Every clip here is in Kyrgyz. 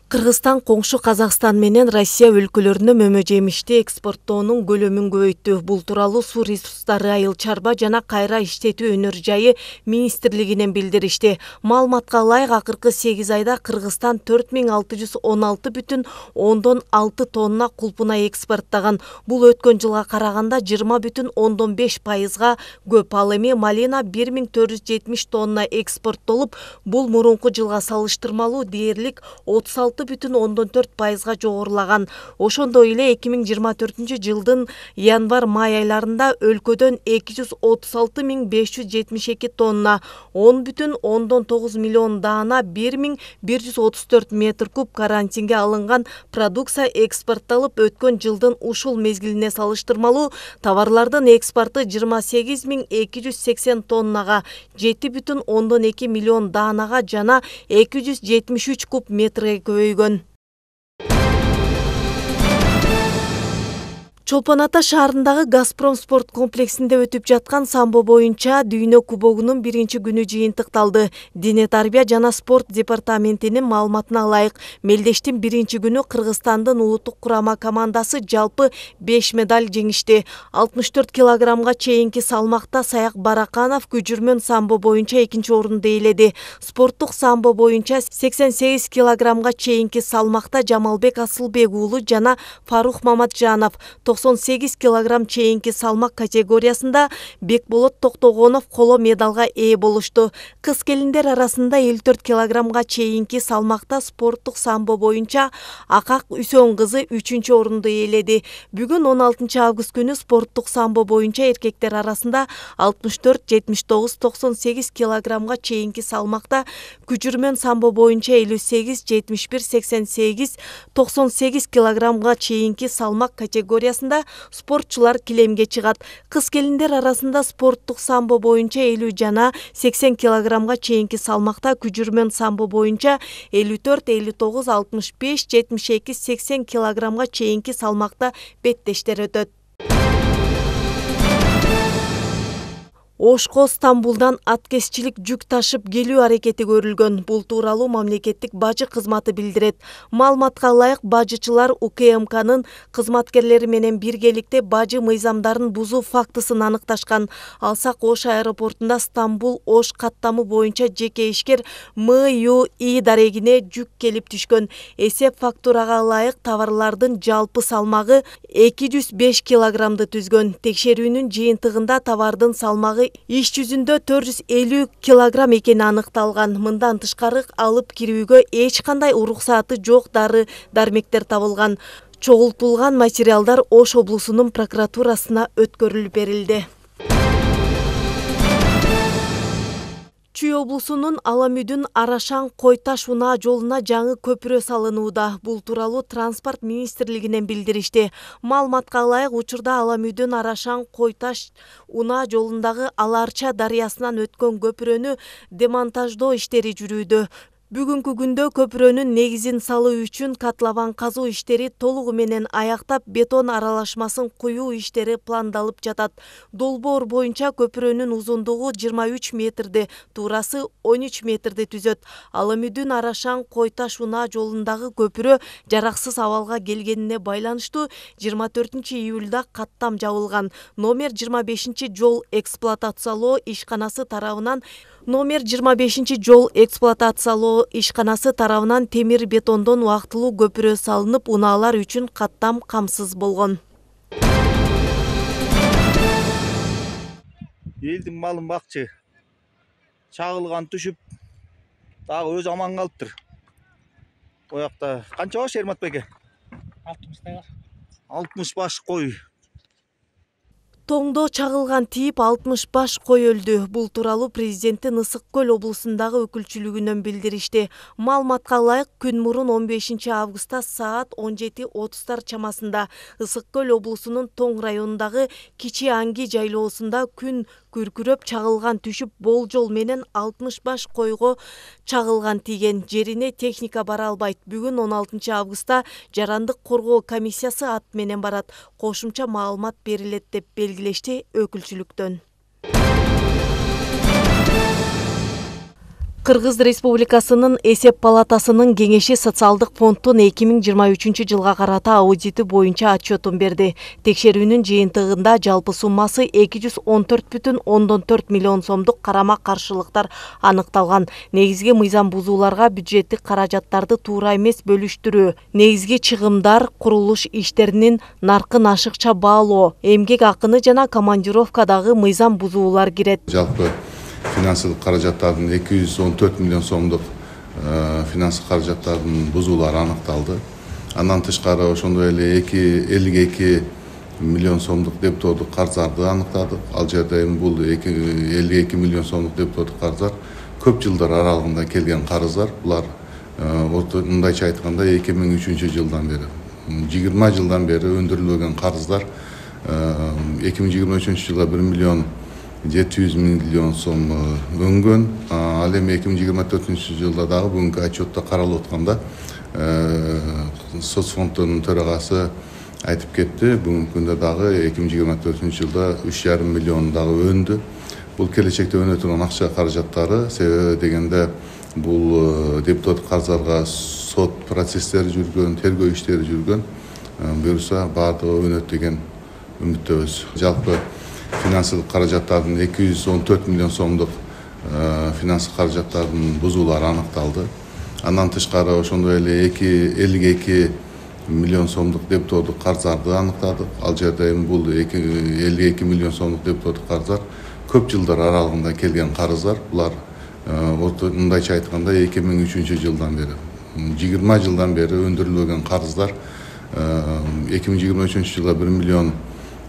Кыргызстан коңшу Казакстан менен Россия өлкөлөрүнө мөмө жемишти экспорттоонун көлөмүн көбөйттү. Бул тууралуу Суу ресурстары айыл чарба жана кайра иштетүү өнөр жайы министрлигинен билдиришти. Маалыматка ылайык, акыркы 8 айда Кыргызстан 4616,6 тонна кулпуна экспорттаган. Бул өткөн жылга караганда 20,5%га көп. Ал эми малина 1470 тонна экспорттолуп, бул мурунку жылга салыштырмалуу дээрлик 36,4%га жогорулаган. Ошондой эле 2024 жылдын январь-май айларында өлкөдөн 236,572 тонна, 10,9 миллион даана, 1134 метр куб карантинге алынган продукция экспортталып, өткөн жылдын ушул мезгилине салыштырмалуу товарлардын экспорту 28,280 тоннага, 7,2 миллион даанага жана 273 куб метрге көбөйгөн. Чолпон Ата шаарындагы Газпром спорт комплексинде өтүп жаткан самбо боюнча дүйнө кубогунун биринчи күнү жыйынтыкталды. Дене тарбия жана спорт департаментинин маалыматына ылайык, мелдештин биринчи күнү Кыргызстандын улуттук курама командасы жалпы 5 медаль жеңишти. 64 килограммга чейинки салмакта Саяк Бараканов күжүрмөн самбо боюнча экинчи орунду ээледи. Спорттук самбо боюнча 88 килограммга чейинки салмакта Жамалбек Асылбек уулу жана Фарух Маматжанов, 98 килограмм чейинки салмак категориясында Бекболот Токтогонов коло медалга ээ болушту. Кыз келиндер арасында 54 килограммга чейинки салмакта спорттук самбо боюнча Акак Үсөн кызы 3-чү орунду ээледи. Бүгүн 16 август күнү спорттук самбо боюнча эркектер арасында 64, 79, 98 килограммга чейинки салмакта, күжүрмөн самбо боюнча 58, 71, 88, 98 килограммга чейинки салмак категориясында спортчулар килемге чыгат. Кыз келиндер арасында спорттук самбо боюнча 50 жана 80 килограммга чейинки салмакта, күжүрмөн самбо боюнча 54, 59, 65, 72, 80 килограммга чейинки салмакта беттештер өтөт. Ошко Стамбулдан аткезчилик жүк ташып келүү аракети көрүлгөн. Бул тууралуу мамлекеттик бажы кызматы билдирет. Маалыматка ылайык, бажычылар УКМКнын кызматкерлери менен биргеликте бажы мыйзамдарын бузуу фактысын аныкташкан. Алсак Ош аэропортунда Стамбул-Ош каттамы боюнча жеке ишкер МЮИ дарегине жүк келип түшкөн. Эсеп фактурага ылайык товарлардын жалпы салмагы 205 килограммды түзгөн. Текшерүүнүн жыйынтыгында товардын салмагы иш жүзүндө 450 килограмм экени аныкталган. Мындан тышкары алып кирүүгө эч кандай уруксаты жок дары-дармектер табылган. Чогултулган материалдар Ош облусунун прокуратурасына өткөрүлүп берилди. Чүй облусунун Аламүдүн Арашан-Койташ унаа жолуна жаңы көпүрө салынууда. Бул тууралуу транспорт министрлигинен билдиришти. Маалыматка ылайык, учурда Аламүдүн Арашан-Койташ унаа жолундагы Аларча дарыясынан өткөн көпүрөнү демонтаждоо иштери жүрүүдө. Бүгүнкү күндө көпүрөнүн негизин салуу үчүн котлован казуу иштери толугу менен аяктап, бетон аралашмасын куюу иштери пландалып жатат. Долбоор боюнча көпүрөнүн узундугу 23 метрди, туурасы 13 метрди түзөт. Аламүдүн Арашан-Койташ унаа жолундагы көпүрө жараксыз абалга келгенине байланыштуу 24 июлда каттам жабылган. Номер 25 жол эксплуатациялоо ишканасы тарабынан темир бетондон убактылуу көпүрө салынып, унаалар үчүн каттам камсыз болгон. Элдин малын бакчы чагылган түшүп, дагы өзү аман калыптыр. Оякта канча баш Эрмат беке? 60 баш кой. Тоңдо чагылган тийип 60 баш кой өлдү. Бул тууралуу президенттин Ысык Көл облусундагы өкүлчүлүгүнөн билдиришти. Маалыматка ылайык, күн мурун 15 августта саат 17:30 чамасында Ысык Көл облусунун Тоң районундагы Кичи Анги жайлоосунда күн күркүрөп чагылган түшүп, болжол менен 60 баш койго чагылган тийген. Жерине техника бара албайт. Бүгүн 16 августта жарандык коргоо комиссиясы ат менен барат. Кошумча маалымат берилет деп белгилешти өкүлчүлүктөн. Кыргыз Республикасынын Эсеп палатасынын кеңеши социалдык фонддун 2023 жылга карата аудити боюнча отчетун берди. Текшерүүнүн жыйынтыгында жалпы суммасы 214,4 миллион сомдук карама-каршылыктар аныкталган. Негизги мыйзам бузууларга бюджеттик каражаттарды туура эмес бөлүштүрүү, негизги чыгымдар, курулуш иштеринин наркын ашыкча баалоо, эмгек акыны жана командировкадагы мыйзам бузуулар кирет. Жалпы финансылык каражаттардын 214 миллион сомдук финансылык каражаттардын бузуулары аныкталды. Андан тышкары ошондой эле 52 миллион сомдук дебитордук карыздарды аныктадык. Ал жерде бул 52 миллион сомдук дебитордук карыздар көп жылдар аралыгында келген карыздар. Булар мындайча айтканда 2003 жылдан бери 20 жылдан бери өндүрүлбөгөн карыздар 2023 жылда 1 миллион 700 миллион сом өнгөн. Ал эми 2024 жылда дагы бүгүнкү отчетто каралып атканда соцфонддун төрагасы айтып кетти. Бүгүнкү күндө дагы 2024 жылда 3,5 миллион дагы өндү. Бул келечекте өнө турган акча каражаттары, себеби дегенде бул депутаттык карыздарга сот процесстери жүргөн, тергөө иштери жүргөн. Буюрса баардыгы өнөт деген үмүттөбүз. Жалпы финансылык каражаттардын 214 миллион сомдук финансылык каражаттардын бузуулары аныкталды. Андан тышкары ошондой эле 52 миллион сомдук дебитордук карыздарды аныктадык. Ал жерде бул 52 миллион сомдук дебитордук карыздар көп жылдар аралыгында келген карыздар. Булар мындайча айтканда 2003 жылдан бери 20 жылдан бери өндүрүлбөгөн карыздар 2023 жылда 1 миллион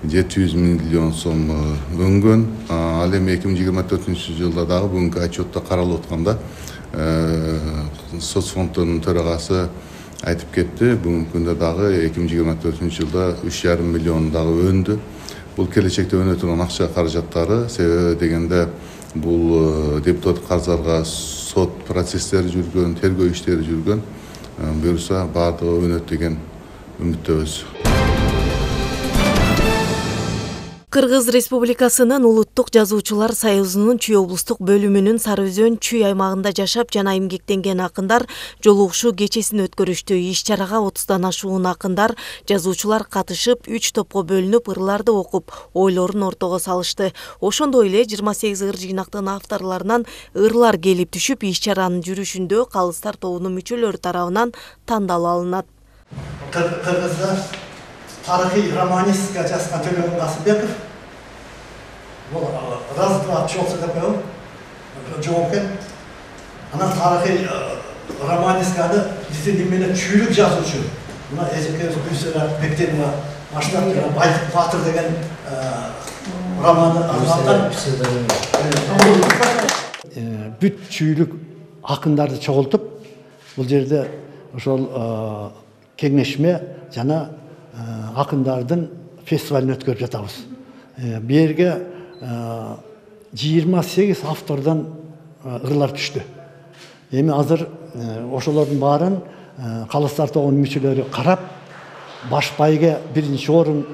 700 миллион сом өнгөн. Ал эми 2024 жылда дагы бүгүнкү отчетто каралып атканда соцфонддун төрагасы айтып кетти. Бүгүнкү күндө дагы 2024 жылда 3,5 миллион дагы өндү. Бул келечекте өнө турган акча каражаттары, себеби дегенде бул депутаттык карыздарга сот процесстери жүргөн, тергөө иштери жүргөн. Буюрса баардыгы өнөт деген үмүттөбүз. Кыргыз Республикасынын Улуттук жазуучулар союзунун Чүй облустук бөлүмүнүн Сары Өзөн Чүй аймагында жашап жана эмгектенген акындар жолугушуу кечесин өткөрүштү. Иш-чарага 30дан ашуун акындар, жазуучулар катышып, 3 топко бөлүнүп, ырларды окуп, ойлорун ортого салышты. Ошондой эле 28 ыр жыйнактын авторлорунан ырлар келип түшүп, иш-чаранын жүрүшүндө калыстар тобунун мүчөлөрү тарабынан тандалып алынат. Кыргызда тарыхый романистика жазган Төлөгөн Касымбеков, бул раз-два чоксы деп коем, жооп экен. Анан тарыхый романистиканы биздин эмне чүйлүк жазуучу. Мына эжекебиз Гүлсара Бектенова баштап Байтык Батыр деген романды арналган. Бүт чүйлүк акындарды чогултуп, бул жерде ошол кеңешме жана акындардын фестивалын өткөрүп жатабыз. Бу жерге 28 автордон ырлар түштү. Эми азыр ошолордун баарын калыстар тобунун мүчөлөрү карап, баш байга 1-чи орун,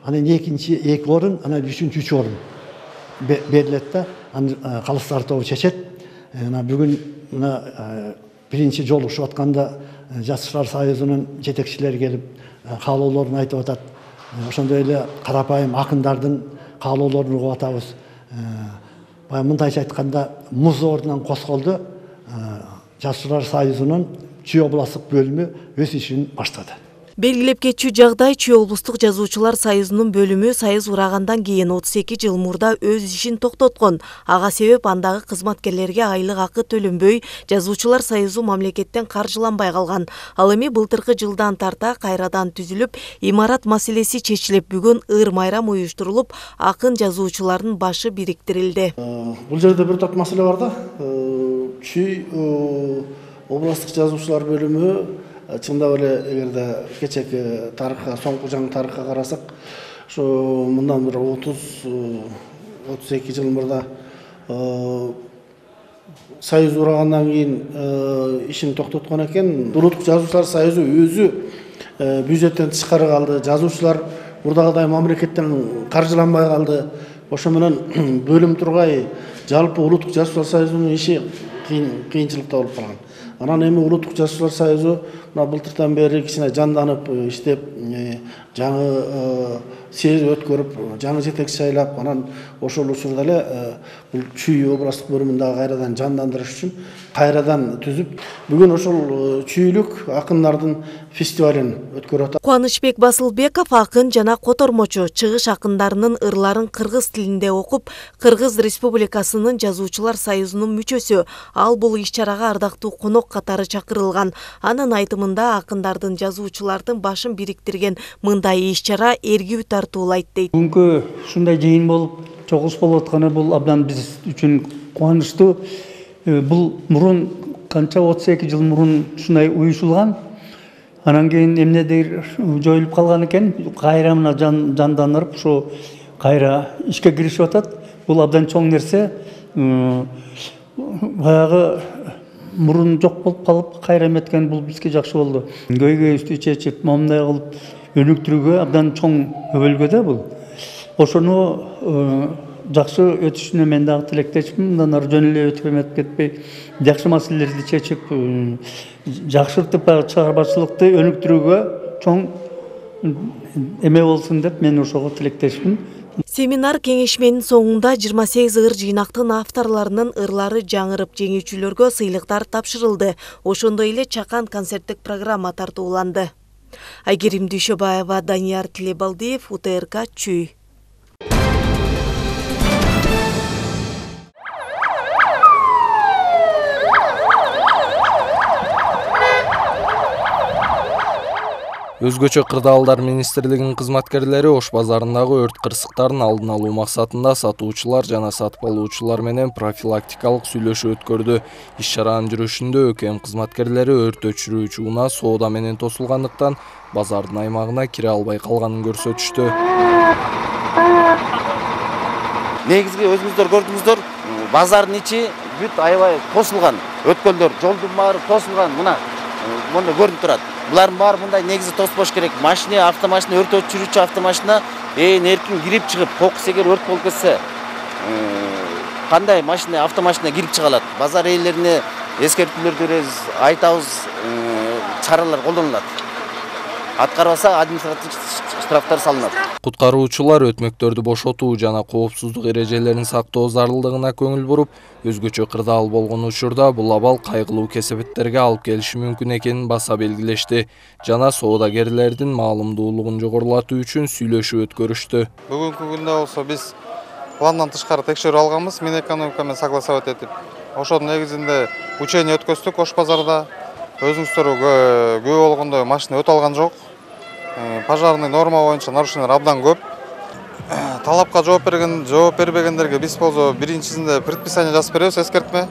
анан 2 орун, анан 3 орун берилет да, анан калыстар тобу чечет. Бүгүн мына 1-чи жолугушуп атканда Жазуучулар союзунун жетекчилери келип каалоолорун айтып атат. Ошондой эле карапайым акындардын каалоолорун угуп атабыз. Баягы мындайча айтканда муз ордунан козголду. Жазуучулар союзунун Чүй областтык бөлүмү өз ишин баштады. Белгилеп кетчү жагдай, Чүй облустук жазуучулар союзунун бөлүмү союз урагандан кийин 32 жыл мурда өз ишин токтоткон. Ага себеп андагы кызматкерлерге айлык акы төлөнбөй, жазуучулар союзу мамлекеттен каржыланбай калган. Ал эми былтыркы жылдан тарта кайрадан түзүлүп, имарат маселеси чечилип, бүгүн ыр-майрам уюштурулуп, акын жазуучулардын башы бириктирилди. Бул жерде бир топ маселе бар да. Чүй областтык жазуучулар бөлүмү чындап эле эгерде кечеки тарыхка, соңку жаңы тарыхка карасак, ошо мындан бир 30-32 жыл мурда союз урагандан кийин ишин токтоткон экен. Улуттук жазуучулар союзу өзү бюджеттен тышкары калды. Жазуучулар мурдагыдай мамлекеттен каржыланбай калды. Ошо менен бөлүм тургай жалпы Улуттук жазуучулар союзунун иши кыйынчылыкта болуп калган. Анан эми улуттук жазуучулар союзу мына былтырдан бери кичине жанданып иштеп, жаңы съезд өткөрүп, жаңы жетекчи шайлап, анан ошол учурда эле бул Чүй областтык бөлүмүндө кайрадан жандандырыш үчүн кайрадан түзүп, бүгүн ошол чүйлүк акындардын фестивалин өткөрүп атат. Кубанычбек Басылбеков акын жана котормочу, чыгыш акындарынын ырларын кыргыз тилинде окуп, Кыргыз Республикасынын жазуучулар союзунун мүчөсү. Ал бул иш-чарага ардактуу конок катары чакырылган. Анын айтымында акындардын, жазуучулардын башын бириктирген мындай иш-чара эргүү тартуулайт дейт. Бүгүнкү ушундай жыйын болуп, чогулуш болуп атканы бул абдан биз үчүн кубанычтуу. Бул мурун канча 32 жыл мурун ушундай уюшулган. Анан кийин эмнедир жоюлуп калган экен, кайра мына жандандырып, ушу кайра ишке киришип атат. Бул абдан чоң нерсе. Баягы мурун жок болуп калып, кайра эметкен бул бизге жакшы болду. Көйгөйүбүздү чечип, момундай кылып өнүктүрүүгө абдан чоң өбөлгө да бул. Ошону жакшы өтүшүнө мен дагы тилектешмин. Мындан ары жөн эле өтүп эметип кетпей, жакшы маселелерди чечип, жакшыртып чыгармачылыкты өнүктүрүүгө чоң эме болсун деп мен ошого тилектешмин. Семинар кеңешменин соңунда 28 ыр жыйнактын авторларынын ырлары жаңырып, жеңүүчүлөргө сыйлыктар тапшырылды. Ошондой эле чакан концерттик программа тартууланды. Айгерим Дүйшөбаева, Данияр Тилебалдиев, УТРК Чүй. Өзгөчө Кырдаалдар министрлигинин кызматкерлери Ош базарындагы өрт кырсыктарын алдын алуу максатында сатуучулар жана сатып алуучулар менен профилактикалык сүйлөшүү өткөрдү. Иш-чаранын жүрүшүндө ÖKM кызматкерлери өрт өчүрүүчү унаа соода менен тосулгандыктан базардын аймагына кире албай калганын көрсөтүштү. Негизги өзүңүздөр көрдүңүздөр, базардын ичи бүт аябай тосулган. Өткөлдөр, жолдун баары тосулган. Мына көрүнүп турат. Булардын баары мындай негизи тоспош керек. Машина, автомашина, өрт өчүрүүчү автомашина эркин кирип чыгып, кокус эгер өрт болуп кетсе, кандай машина, автомашина кирип чыга алат. Базар ээлерине эскертүүлөр беребиз, айтабыз, чаралар колдонулат. Аткарбаса административдик штрафтар салынат. Куткаруучулар өтмөктөрдү бошотуу жана коопсуздук эрежелерин сактоо зарылдыгына көңүл буруп, өзгөчө кырдаал болгон учурда бул абал кайгылуу кесепеттерге алып келиши мүмкүн экенин баса белгилешти. Жана соодагерлердин маалымдуулугун жогорулатуу үчүн сүйлөшүү өткөрүштү. Бүгүнкү күндө болсо биз пландан тышкары текшерүү алганбыз, Минэкономика менен согласовать этип. Ошонун негизинде учение өткөздүк Ош базарда. Өзүңүздөр күбө болгондой машина өтө алган жок. Пожарный норма боюнча нарушениялар абдан көп. Талапка жооп бербегендерге биз болсо биринчисинде предписание жазып беребиз, эскертме.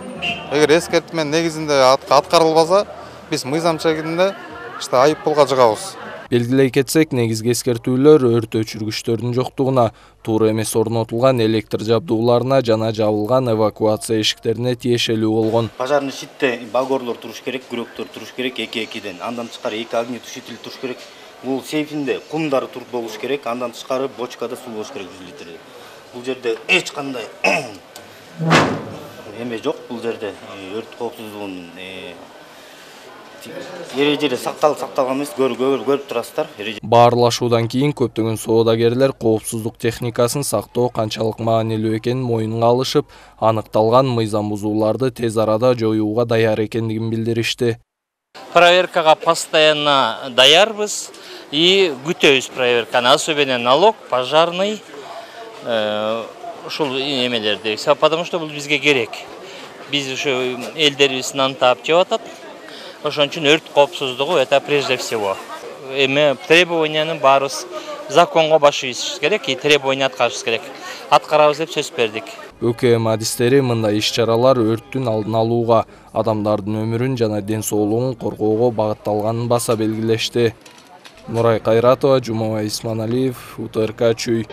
Эгер эскертме негизинде аткарылбаса, биз мыйзам чегинде айып пулга жыгабыз. Белгилей кетсек, негизги эскертүүлөр өрт өчүргүчтөрдүн жоктугуна, туура эмес орнотулган электр жабдууларына жана жабылган эвакуация эшиктерине тиешелүү болгон. Пожарный щитте багорлор туруш керек, күрөктөр туруш керек, 2-2-ден. Андан тышкары 2 огнетушитель туруш керек. Бул сейфинде кумдары туруп болуш керек, андан тышкары бочкада суу болуш керек 100 литр. Бул жерде эч кандай эме жок, бул жерде өрт коопсуздугунун эрежелери сакталган эмес, көрүп турасыздар. Баарлашуудан кийин көптөгөн соодагерлер коопсуздук техникасын сактоо канчалык маанилүү экенин моюнга алышып, аныкталган мыйзам бузууларды тез арада жоюуга даяр экендигин билдиришти. Проверкага постоянно даярбыз и күтөбүз проверканы, особенно налог, пожарный, ушул эмелерди, потому что бул бизге керек. Биз ушу элдерибиздин антап жеп атат. Ошон үчүн өрт коопсуздугу это прежде всего. Эме требованиянын баарыбыз законго баш ийишибиз керек и требования аткарышыбыз керек. Аткарабыз деп сөз бердик. ÖKM адистери мындай иш-чаралар өрттүн алдын алууга, адамдардын өмүрүн жана ден соолугун коргоого багытталганын баса белгилешти. Нурай Кайратова, Жумабай Исманалиев, УТРК Чүй.